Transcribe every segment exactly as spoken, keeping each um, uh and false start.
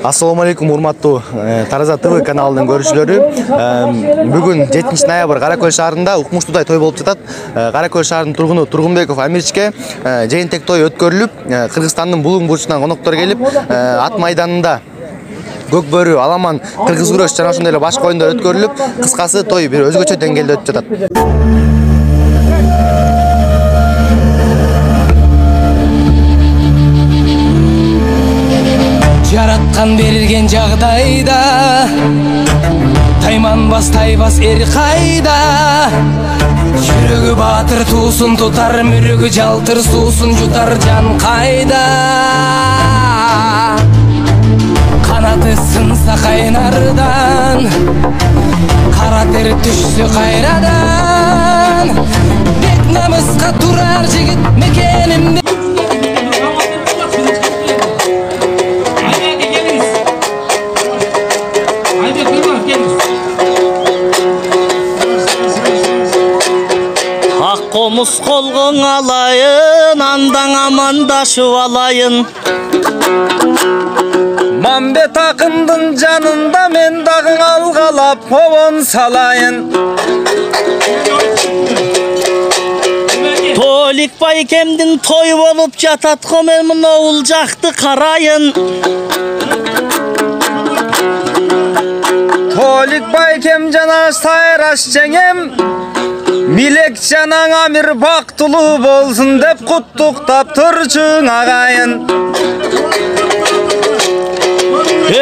Ассаламу алейкум, урматтуу Тараза ТВ каналынын көрүүчүлөрү. Бүгүн жетинчи ноябрь Кара Көл шаарында укмуштуудай той болуп жатат. Кара Көл шаарынын тургуну Тургунбеков Амирчке жыйынтек той өткөрүлүп, Кыргызстандын булуң бурчунан коноктор келип, ат майданында көк бөрү, аламан, кыргыз күрөш жана ошондой эле башка оюндар өткөрүлүп, кыскасы той бир өзгөчө деңгээлде өтүп жатат. Жараткан берген жагдайда тайманбас тайбас эр кайда, жүрөгү баатыр туусун тутар, мүрөгү жалтыр суусун жутар жан кайда. Канаты сынса кайнардан, кара тер түшсө кайрадан, бек намыска турар жигит мекенимде. Комуз колгоң алайын, андан амандашып алайын. Мамбет акындын жанында мен дагы алгалап обон салайын. Толик байкемдин той болуп жатат, мен мынау жакты карайын. Толик байкем жана сайраш жеңем, Милек жанаң Амир бактылуу болсун деп куттуктап турчуң агайын.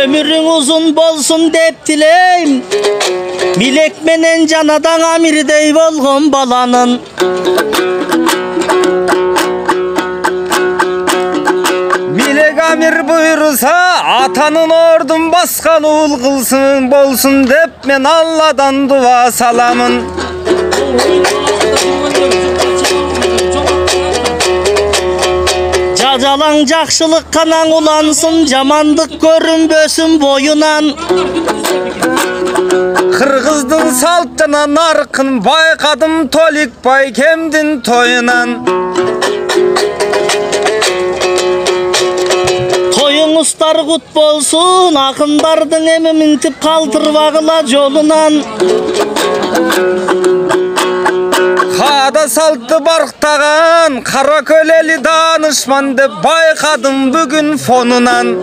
Өмүрүң узун болсун деп тилейм, Милек менен жанадаң Амирдей болгон баланын. Милек Амир буйруса, атанын ордун баскан уул кылсын болсун деп мен Алладан дуа саламын. Жажалаң жакшылык канаң улансын, жамандык көрүнбөсүн боюнан. Кыргыздын салт жана наркын байкадым Толик байкемдин тоюнан. Тоюңуздар кут болсун, акындардын эми минтип калтырбагыла жолунан. Када салтты барктаган Кара Көл эли данышман деп байкадым бүгүн фонунан.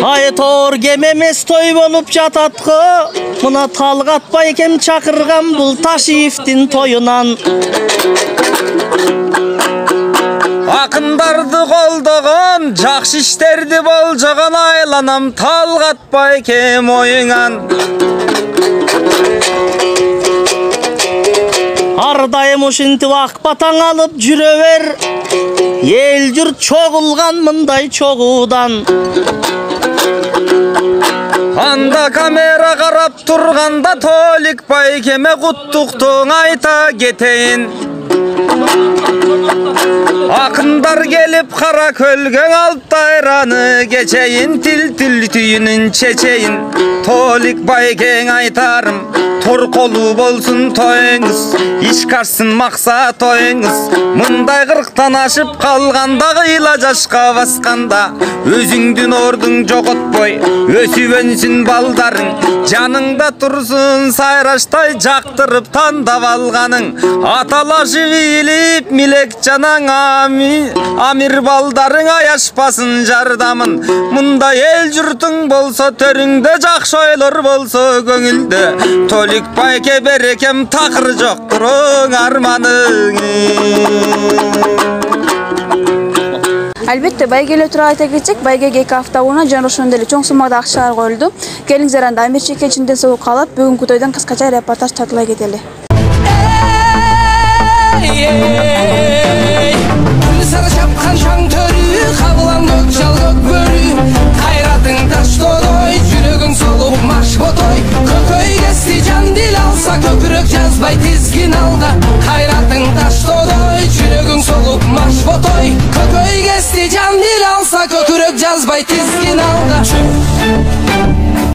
Айтор кем эмес той болуп жатат го, мына Талгат байкем чакырган бул Ташиевдин тоюнан. Акындарды колдогон, жакшы иштерди болжогон айланам Талгат байкем оюңан. Ар дайым ушинтип ак батаң алып жүрө бер, эл журт чогулган мындай чогуудан. Анда камера карап турганда Толик байкеме куттуктуң айта кетейин. Акындар келип Кара Көлгө алып айраны кечейин, тил тил түйүнүн чечейин. Толик байкең айтарым, торколуу болсун тоюңуз, ишкарсын максат тоюңуз. Мындай кырктан ашып калганда, кыйла жашка басканда, өзүңдүн ордуң жоготпой, өсүп өнсүн балдарың, жаныңда турсун сайраштай жактырып тандап алганың. Аталашып илип Милек жанаң Амир балдарың аяшпасын жардамын. Мында эл журтуң болсо, төрүңдө жакшы ойлор болсо көңүлдө, Толик байке берекем такыр жоктур арманың. Албетте байгеле тура айта кетсек, байгеге эки апта мурун жана ошондой эле чоң суммада акчалар коюлду. Келиңиздер анда Амирчике чындын согуп калып, бүгүнкү тойдон кыскача репортаж тартуулай кетели. Сары чапкан шаң төрү, кабылан көк жал көк бөрү, кайратың таш тодой, жүрөгүң солуп марш ботой. Көкөй кести жан дил алса, көкүрөк жазбай тизгин алда, кайратың таш тодой, жүрөгүң солуп марш ботой. Көкөй кести жан дил алса, көкүрөк жазбай тизгин алда.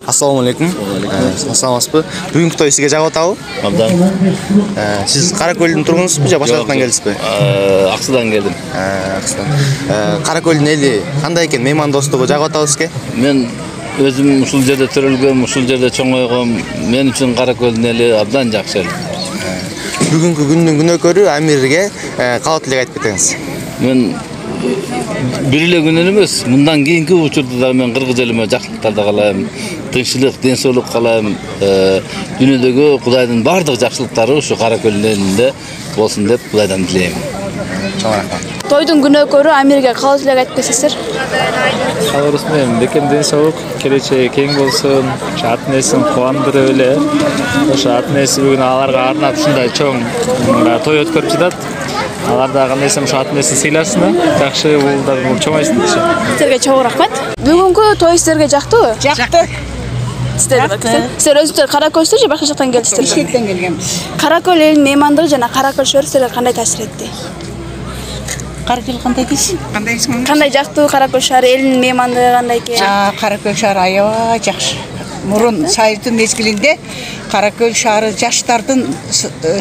Ассаламу алейкум. Саламатсызбы? Бүгүнкү той сизге жагып атабы? Абдан. Сиз Каракөлдүн тургунусузбу же башка жактан келдизби? Аксыдан келдим. Аксыдан. Каракөлдүн эли кандай экен? Меймандостугу жагып атабы сизге? Мен өзүм ушул жерде төрөлгөм, ушул жерде чоңойгом. Мен үчүн Каракөлдүн эли абдан жакшы эл. Бүгүнкү күндүн күнөөкөрү Амирге калат элек айтып кетиңиз. Мен бир эле күнүн эмес, мындан кийинки учурда да мен кыргыз элиме жакшылыктарды каалайм, тынччылык, ден соолук каалайм. Дүйнөдөгү Кудайдын бардык жакшылыктары ушу Каракөлдүн элинде болсун деп Кудайдан тилейм. Чоң рахмат. Тойдун күнөөкөрү Амирге калат элек айтып кетесиздер? Калабыз менен бекем ден соолук, келечеги кең болсун, ата энесин кубандырып эле. Ошо ата энеси бүгүн аларга арнап ушундай чоң той өткөрүп жатат. Алар да кандай десем ошо ата энесин сыйласын да, жакшы уулдар чоңойсун дешим. Силерге чоң рахмат. Бүгүнкү той силерге жактыбы? Жакты. Силер өзүңүздөр Каракөлсүзбү же башка жактан келдиңиздер? Бишкектен келгенбиз. Каракөл элинин меймандыгы жана Каракөл шөөрү силерге кандай таасир этти? Каракөл кандай дейсиң? Кандай дейсиң? Кандай жактуу Каракөл шаары, элинин меймандыгы кандай экен? Каракөл шаары аябай жакшы. Мурун Союздун мезгилинде Каракөл шаары жаштардын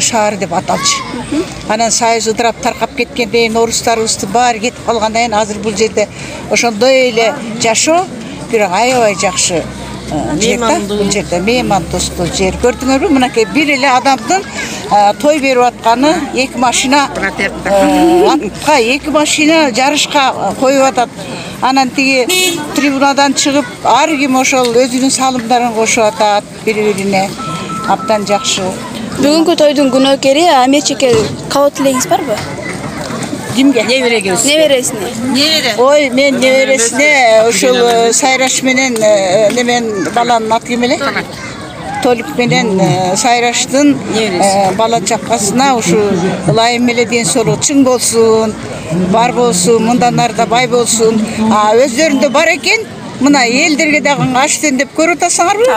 шаары деп аталчу. Анан Союз ыдырап таркап кеткенден кийин орустарыбызды баары кетип калгандан кийин азыр бул жерде ошондой эле жашоо бирок аябай жакшы жер да. Бул жерде меймандостуу жер. Көрдүңөрбү? Мынакей бир эле адамдын той берип атканы эки машина атка эки машина жарышка коюп атат. Анан тиги трибунадан чыгып ар ким ошол өзүнүн салымдарын кошуп атат бири-бирине. Абдан жакшы. Бүгүнкү тойдун күнөөкөрү Амирчике калат элегиңиз барбы? Кимге? Неберегибиз. Небересине. Небере. Ой, мен небересине ушул Сайраш менен немен баланын аты ким эле? Толик менен Сайраштын бала чакасына ушу ылайым эле ден соолук чың болсун, бар болсун, мындан ары да бай болсун. А өздөрүндө бар экен. Мына элдерге дагы аштен деп көрүп атасыңарбы?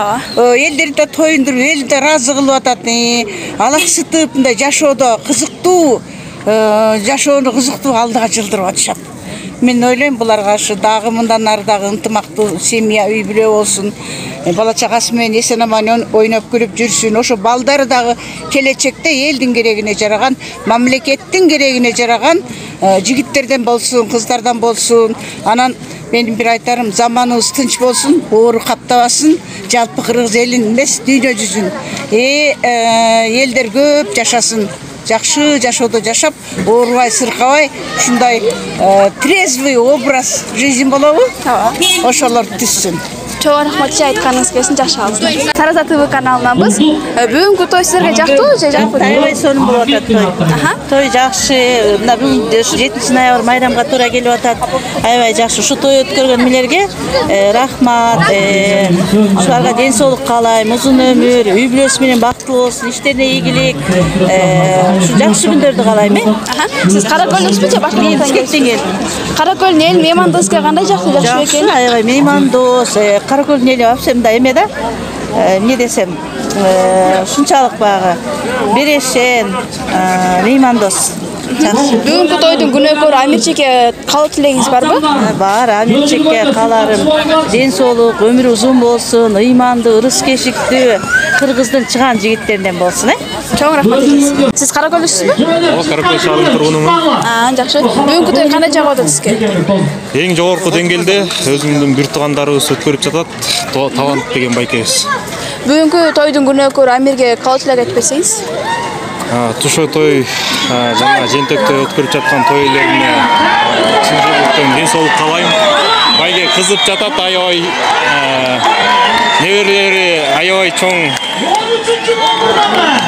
Элдерди да тоюндуруп, элди да ыраазы кылып атат. Алаксытып мындай жашоодо кызыктуу жашоону кызыктуу алдыга жылдырып атышат. Мен ойлойм буларга ушу дагы мындан ары дагы ынтымактуу семья, үй бүлө болсун. Бала чагасы менен эсен аман ойноп күлүп жүрсүн. Ошо балдары дагы келечекте элдин керегине жараган, мамлекеттин керегине жараган жигиттерден болсун, кыздардан болсун. Анан менин бир айтарым, заманыбыз тынч болсун, оору каптабасын, жалпы кыргыз элин эмес, дүйнө жүзүн. Э элдер көп жашасын. Жакшы жашоодо жашап, оорубай, сыркабай, ушундай трезвый образ жизнь болобу? Ошолор түзсүн. Чоң рахмат айтканыңыз келсин, жакшы калыңыз. Тараза ТВ каналынанбыз. Бүгүнкү той силерге жактыбы же жакпы? Аябай сонун болуп атат той. Той жакшы. Мына бүгүн жетинчи ноябрь майрамга туура келип атат. Аябай жакшы. Ушу той өткөргөн милерге рахмат. Ушуларга ден соолук каалайм, узун өмүр, үй бүлөсү менен бактылуу болсун, иштерине ийгилик. Ушу жакшы күндөрдү каалайм. Сиз Каракөлдүксүзбү же башка жактан келдиңиз? Каракөлдүн эл меймандосуга кандай жактуу жакшы экен? Аябай меймандос. Каракөлдүн эли вообще мындай эме да. Эмне десем, ушунчалык багы берешен, меймандос. Бүгүнкү тойдун күнөөкөрү Амирчике калат элегиңиз барбы? Бар, Амирчике кааларым ден соолук, өмүрү узун болсун, ыймандуу, ырыс кешиктүү, кыргыздын чыган жигиттеринен болсун, э? Чоң рахмат экенсиз. Сиз Каракөлдүксүзбү? Ооба, Каракөл шаарынын тургунумун. Аа, жакшы. Бүгүнкү той кандай жагып атат сизге? Эң жогорку деңгээлде өзүмдүн бир туугандарыбыз өткөрүп жатат. Талант деген байкебиз. Бүгүнкү тойдун күнөөкөрү Амирге калат элек айтып берсеңиз? Тушо той жана жентектө өткөрүп жаткан той элерине чын жүрөктөн ден соолук каалайм. Байге кызып жатат, аябай неберелери аябай чоң.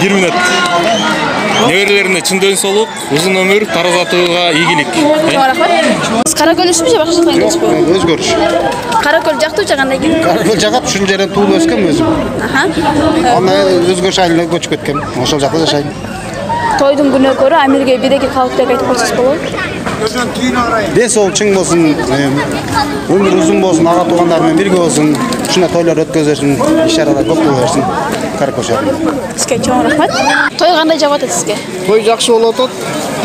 бир мүнөт. Неберелерине чын ден соолук, узун өмүр, Тараза ТВга ийгилик. Чоң рахмат. Сиз Каракөлдүксүзбү же башка жактан келдиңизби? Өзгөрүш. Каракөл жактуу же кандай экен? Каракөл жагат, ушул жерден туулуп өскөм өзүм. Аха. Аны өзгөрүш айылына көчүп кеткем. Ошол жакта жашайм. Тойдун күнөөкөрү Амирге бир-эки калат элек айтып койсоңуз болобу? Ден соолук чың болсун, өмүр узун болсун, ага туугандар менен бирге болсун, ушундай тойлор өткөзөсүн, иш-чаралар көп боло берсин. Каракөл шаарында. Сизге чоң рахмат. Той кандай жагып атат сизге? Той жакшы болуп атат,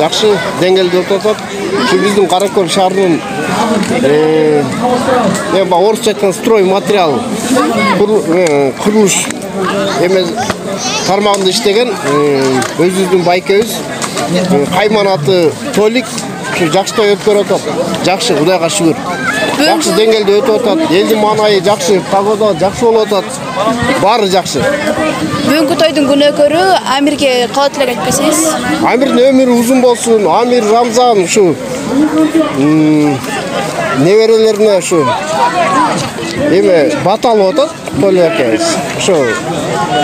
жакшы деңгээлде өтүп атат. Ушу биздин Каракөл шаарынын э, орусча айтканда строй материал курулуш эме тармагында иштеген өзүбүздүн байкебиз кайманаты Толик ушу жакшы той өткөрүп атат. Жакшы, Кудайга шүгүр. Жакшы деңгээлде өтүп атат. Элдин маанайы жакшы, погода жакшы болуп атат. Баары жакшы. Бүгүнкү тойдун күнөөкөрү Амирге калат элек айтпасаңыз? Амирдин өмүрү узун болсун. Амир Рамзан ушу неберелерине ушу эме бат алып атат. Толик акебиз. Ушу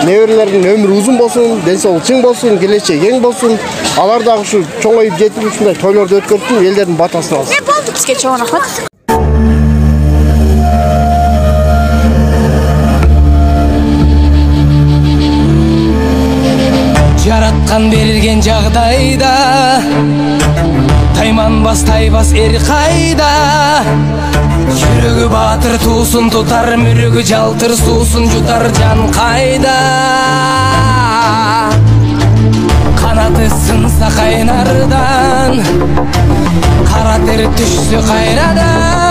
неберелердин өмүрү узун болсун, ден соолугу чың болсун, келечеги кең болсун. Алар дагы ушу чоңоюп жетип ушундай тойлорду өткөрсүн, элдердин батасын алсын. Сизге чоң рахмат. Жараткан берилген жагдайда тайманбас тайбас эр кайда. Жүрөгү баатыр туусун тутар, мүрөгү жалтыр суусун жутар жан кайда. Канаты сынса кайнардан, кара тер түшсө кайрадан.